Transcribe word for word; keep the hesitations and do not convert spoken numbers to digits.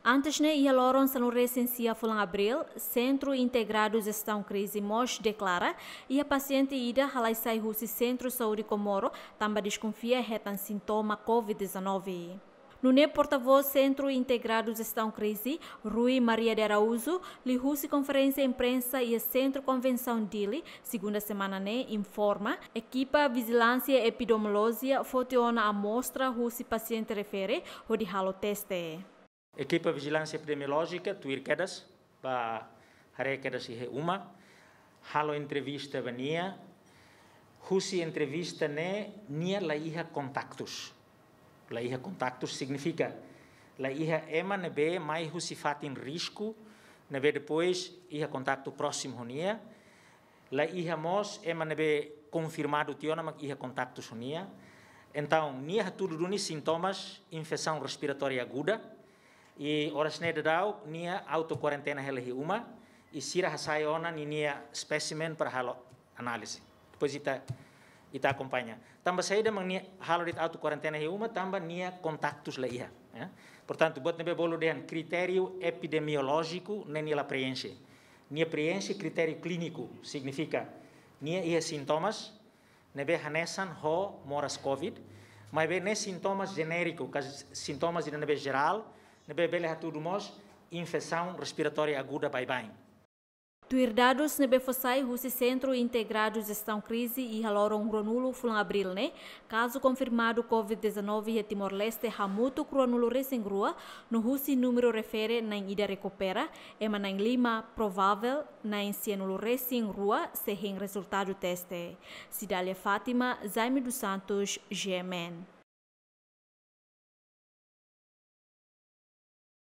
Antes ne'e, iha loron sanulu-resin-sia fulan Abríl, Sentru Integradu Jestaun Krize mós deklara iha pasiente ida halai sai husi Sentru Saúde Comoro tanba deskonfia hetan sintoma covid dezanove. Nune'e portavós Sentru Integradu Jestaun Krize, Rui Maria de Araújo, liuhusi konferénsia imprensa iha Sentru Konvensaun Dili, segunda semana ne'e, informa, ekipa vijilánsia epidemiolójia foti ona amostra husi pasiente refere hodi halo teste. Ekipa vijilánsia epidemiolójika tuir kedas, ba haree kedas iha uma, halo entrevista ba nia, husi entrevista ne'e nia la iha kontaktus. La iha kontaktus signifika la iha ema ne'ebé mai husi fatin risku, ne'ebé depois iha kontaktu prósimu ho nia, la iha mós ema ne'ebé konfirmadu tiha ona mak iha kontaktus ho nia. Entaun, nia hatudu duni sintomas infesaun respiratória aguda. I oras ne'e daudaun, nia auto kuarentena hela iha uma. I sira hasai ona ninia espésimen para halo análize. Depois ita, ita akompaña. Tanba saida mak nia halo de'it auto kuarentena iha uma, tanba nia kontaktus la iha, ya. Portantu, buat ne'ebé bolu dehan kritériu epidemiolójiku ne'e nia la preenxe. Nia preenxe kritériu klíniku, signifika nia iha sintomas ne'ebé hanesan ho moras covid, maibé ne'e sintomas jenériku, ka sintomas ida ne'ebé jerál, ne'ebé bele hatudu mós infesaun respiratória aguda baibain. Tuir dadus ne'ebé fó sai husi Sentru Integradu Jestaun Krize iha loron ruanulu fulan Abríl ne'e, kazu konfirmadu covid dezanove iha Timor-Leste hamutuk ruanulu-resin-rua, no husi númeru refere na'in ida rekupera, ema na'in lima provável, na'in sianulu-resin-rua sei hein rezultadu teste. Cidália Fátima, Jaime dos Santos, G M N.